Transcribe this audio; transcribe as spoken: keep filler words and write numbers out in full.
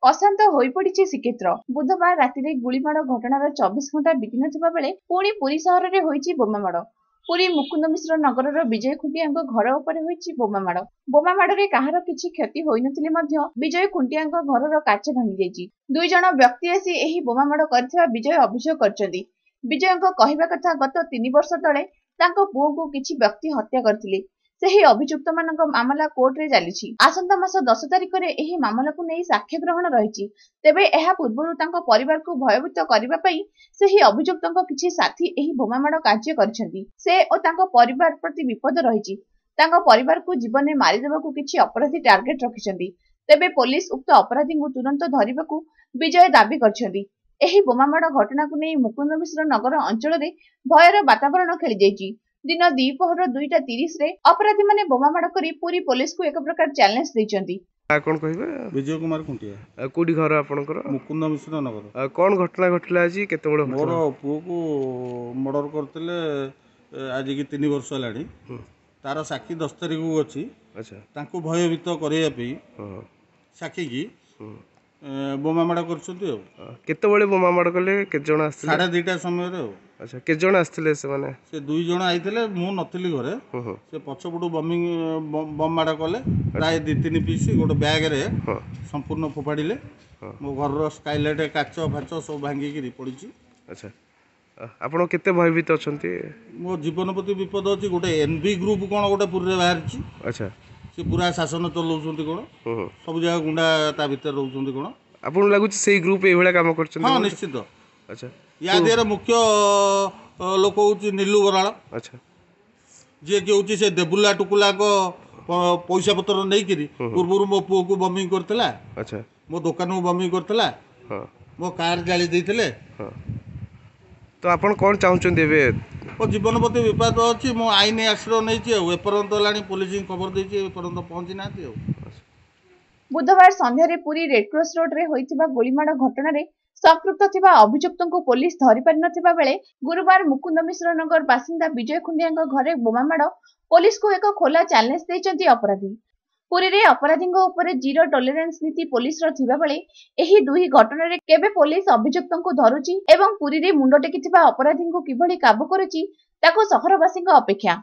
ଅଶାନ୍ତ ହୋଇପଡ଼ିଛି ଶ୍ରୀକ୍ଷେତ୍ର। ବୁଧବାର ରାତିରେ ଗୁଳିମାଡ଼ ଘଟଣାର ଚବିଶ ଘଣ୍ଟା ବିତିନଥିବା ବେଳେ ପୁଣି ପୁରୀ ସହରରେ ହୋଇଛି ବୋମାମାଡ଼। ପୁରୀ ମୁକୁନ୍ଦ ମିଶ୍ର ନଗରର ବିଜୟ ଖୁଣ୍ଟିଆଙ୍କ ଘର ଉପରେ ହୋଇଛି ବୋମାମାଡ଼। ବୋମାମାଡ଼ରେ କାହାର କିଛି କ୍ଷତି ହୋଇନଥିଲେ ମଧ୍ୟ ବିଜୟ ଖୁଣ୍ଟିଆଙ୍କ ଘରର କାଚ ଭାଙ୍ଗିଯାଇଛି। ଦୁଇ ଜଣ ବ୍ୟକ୍ତି ଆସି ଏହି ବୋମାମାଡ଼ କରିଥିବା ବିଜୟ ଅଭିଯୋଗ କରିଛନ୍ତି। ବିଜୟଙ୍କ କହିବା କଥା, ଗତ ତିନି ବର୍ଷ ତଳେ ତାଙ୍କ ପୁଅକୁ କିଛି ବ୍ୟକ୍ତି ହତ୍ୟା କରିଥିଲେ। ସେହି ଅଭିଯୁକ୍ତମାନଙ୍କ ମାମଲା କୋର୍ଟରେ ଚାଲିଛି। ଆସନ୍ତା ମାସ ଦଶ ତାରିଖରେ ଏହି ମାମଲାକୁ ନେଇ ସାକ୍ଷ୍ୟ ଗ୍ରହଣ ରହିଛି। ତେବେ ଏହା ପୂର୍ବରୁ ତାଙ୍କ ପରିବାରକୁ ଭୟଭୀତ କରିବା ପାଇଁ ସେହି ଅଭିଯୁକ୍ତଙ୍କ କିଛି ସାଥୀ ଏହି ବୋମାମାଡ଼ କାର୍ଯ୍ୟ କରିଛନ୍ତି। ସେ ଓ ତାଙ୍କ ପରିବାର ପ୍ରତି ବିପଦ ରହିଛି। ତାଙ୍କ ପରିବାରକୁ ଜୀବନରେ ମାରିଦେବାକୁ କିଛି ଅପରାଧୀ ଟାର୍ଗେଟ ରଖିଛନ୍ତି। ତେବେ ପୋଲିସ ଉକ୍ତ ଅପରାଧୀଙ୍କୁ ତୁରନ୍ତ ଧରିବାକୁ ବିଜୟ ଦାବି କରିଛନ୍ତି। ଏହି ବୋମାମାଡ଼ ଘଟଣାକୁ ନେଇ ମୁକୁନ୍ଦ ମିଶ୍ର ନଗର ଅଞ୍ଚଳରେ ଭୟର ବାତାବରଣ ଖେଳିଯାଇଛି। ଦିନ ଦ୍ୱିପହର ଦୁଇଟା ତିରିଶରେ ଅପରାଧୀମାନେ ବୋମାମାଡ଼ କରି ପୁରୀ ପୋଲିସକୁ ଏକ ପ୍ରକାର ଚ୍ୟାଲେଞ୍ଜ ଦେଇଛନ୍ତି। କଣ କହିବେ? ବିଜୟ କୁମାର ଖୁଣ୍ଟିଆ। ଆଉ କୋଉଠି ଘର ଆପଣଙ୍କର? ମୁକୁନ୍ଦ ମିଶ୍ର ନଗର। ଆଉ କଣ ଘଟଣା ଘଟିଲା ଆଜି, କେତେବେଳେ? ମୋର ପୁଅକୁ ମର୍ଡର କରିଥିଲେ ଆଜିକି ତିନି ବର୍ଷ ହେଲାଣି। ତାର ସାକ୍ଷୀ ଦଶ ତାରିଖକୁ ଅଛି। ଆଚ୍ଛା। ତାଙ୍କୁ ଭୟଭୀତ କରିବା ପାଇଁ ସାକ୍ଷୀକି ବୋମା ମାଡ଼ କରିଛନ୍ତି। ଆଉ କେତେବେଳେ ବୋମା ମାଡ଼ କଲେ, କେତେ ଜଣ ଆସିଥିଲେ? ସାଢ଼େ ଦୁଇଟା ସମୟରେ। ଆଉ ଆଚ୍ଛା, କେତେ ଜଣ ଆସିଥିଲେ ସେମାନେ? ସେ ଦୁଇ ଜଣ ଆଇଥିଲେ, ମୁଁ ନଥିଲି ଘରେ। ସେ ପଛପଟୁ ବମିଂ ବମ୍ ମାଡ଼ କଲେ, ପ୍ରାୟ ଦୁଇ ତିନି ପିସ୍ ଗୋଟେ ବ୍ୟାଗରେ ସମ୍ପୂର୍ଣ୍ଣ ଫୋପାଡ଼ିଲେ। ମୋ ଘରର ସ୍କାଇଲାଇଟ୍ କାଚ ଫାଚ ସବୁ ଭାଙ୍ଗିକିରି ପଡ଼ିଛି। ଆଚ୍ଛା, ଆପଣ କେତେ ଭୟଭୀତ ଅଛନ୍ତି? ମୋ ଜୀବନ ପ୍ରତି ବିପଦ ଅଛି। ଗୋଟେ ଏନ୍ ବି ଗ୍ରୁପ୍ କ'ଣ ଗୋଟେ ପୁରୀରେ ବାହାରିଛି। ଆଚ୍ଛା। ସେ ପୁରା ଶାସନ ଚଲାଉଛନ୍ତି କ'ଣ, ସବୁ ଜାଗା ଗୁଣ୍ଡା ତା ଭିତରେ ରହୁଛନ୍ତି କ'ଣ। ଆପଣଙ୍କୁ ଲାଗୁଛି ସେଇ ଗ୍ରୁପ୍ ଏଇଭଳିଆ କାମ କରୁଛନ୍ତି? ହଁ, ନିଶ୍ଚିତ। ଆଚ୍ଛା। ୟା ଦେହରେ ମୁଖ୍ୟ ଲୋକ ହେଉଛି ନିଲୁ ବରାଳ। ଆଚ୍ଛା। ଯିଏକି ହେଉଛି ସେ ଦେବୁଲା ଟୁକୁଲାଙ୍କ ପଇସା ପତ୍ର ନେଇକିରି ପୂର୍ବରୁ ମୋ ପୁଅକୁ ବମିଂ କରିଥିଲା। ଆଚ୍ଛା। ମୋ ଦୋକାନକୁ ବମିଂ କରିଥିଲା, ମୋ କାର୍ ଜାଳି ଦେଇଥିଲେ। ତ ଆପଣ କ'ଣ ଚାହୁଁଛନ୍ତି ଏବେ? ମୋ ଜୀବନ ପ୍ରତି ବିପଦ ଅଛି। ମୁଁ ଆଇନ ଆଶ୍ରୟ ନେଇଛି, ଆଉ ଏପର୍ଯ୍ୟନ୍ତ ହେଲାଣି ପୋଲିସଙ୍କୁ ଖବର ଦେଇଛି, ଏପର୍ଯ୍ୟନ୍ତ ପହଞ୍ଚି ନାହାନ୍ତି। ଆଉ ବୁଧବାର ସନ୍ଧ୍ୟାରେ ପୁରୀ ରେଡକ୍ରସ ରୋଡରେ ହୋଇଥିବା ଗୁଳିମାଡ଼ ଘଟଣାରେ ସମ୍ପୃକ୍ତ ଥିବା ଅଭିଯୁକ୍ତଙ୍କୁ ପୋଲିସ ଧରିପାରିନଥିବା ବେଳେ ଗୁରୁବାର ମୁକୁନ୍ଦ ମିଶ୍ର ନଗର ବାସିନ୍ଦା ବିଜୟ ଖୁଣ୍ଟିଆଙ୍କ ଘରେ ବୋମାମାଡ଼ ପୋଲିସକୁ ଏକ ଖୋଲା ଚ୍ୟାଲେଞ୍ଜ ଦେଇଛନ୍ତି ଅପରାଧୀ। ପୁରୀରେ ଅପରାଧୀଙ୍କ ଉପରେ ଜିରୋ ଟଲରେନ୍ସ ନୀତି ପୋଲିସର ଥିବାବେଳେ ଏହି ଦୁଇ ଘଟଣାରେ କେବେ ପୋଲିସ ଅଭିଯୁକ୍ତଙ୍କୁ ଧରୁଛି ଏବଂ ପୁରୀରେ ମୁଣ୍ଡ ଟେକିଥିବା ଅପରାଧୀଙ୍କୁ କିଭଳି କାବୁ କରୁଛି, ତାକୁ ସହରବାସୀଙ୍କ ଅପେକ୍ଷା।